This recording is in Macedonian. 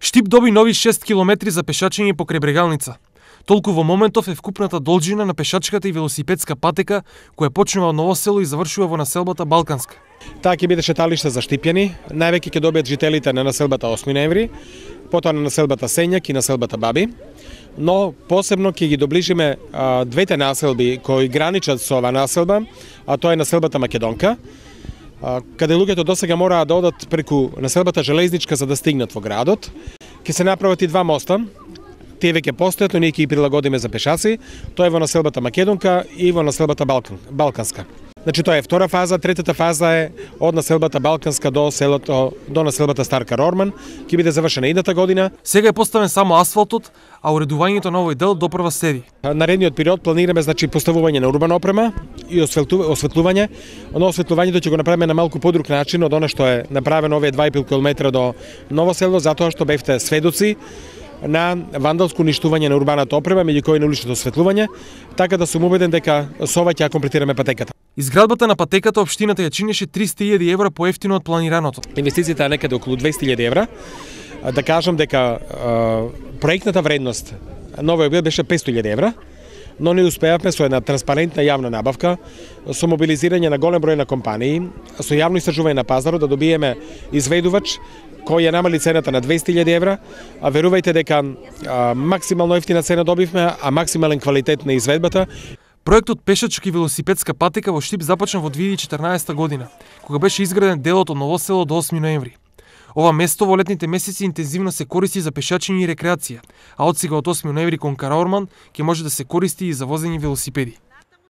Штип доби нови 6 километри за пешачење покрај Брегалница. Толку во моментов е вкупната должина на пешачката и велосипедска патека која почнува од Ново село и завршува во населбата Балканска. Таа ќе биде шеталиште за Штипјани, највеќе ќе добијат жителите на населбата 8 ноември, потоа на населбата Сењак и населбата Баби, но посебно ќе ги доближиме двете населби кои граничат со ова населба, а тоа е населбата Македонка, каде луѓето досега мораа да одат преку населбата Железничка за да стигнат во градот. Ќе се направат и два моста. Тие веќе постојат, но ние ќе ги прилагодиме за пешаци. Тоа е во населбата Македонка и во населбата Балканска. Значи тоа е втора фаза, третата фаза е од населбата Балканска до населбата Старка Рорман, ќе биде завршена идната година. Сега е поставен само асфалтот, а уредувањето на овој дел допрва следи. Наредниот период планираме поставување на урбана опрема и осветлување. Но осветлувањето ќе го направиме на малку подруг начин од она што е направено овие 2,5 км до Ново село, затоа што бевте сведоци на вандалско уништување на урбаната опрема, меѓу кои на уличното осветлување, така да сум убеден дека со ова ќе ја комплетираме патеката. Изградбата на патеката општината ја чинеше 300.000 евра поевтино од планираното. Инвестицијата е некаде околу 200.000 евра. Да кажам дека проектната вредност на овој објект беше 500.000 евра, но не успеавме со една транспарентна јавна набавка, со мобилизирање на голем број на компании, со јавно истражување на пазарот да добиеме изведувач кој ја намали цената на 200.000 евра, а верувајте дека максимално ефтина цена добивме, а максимален квалитет на изведбата. Проектот пешачка и велосипедска патека во Штип започна во 2014 година, кога беше изграден делот од Ново село до 8 ноември. Ова место во летните месеци интензивно се користи за пешачење и рекреација, а од сега од 8 ноември кон Караорман ќе може да се користи и за возење велосипеди.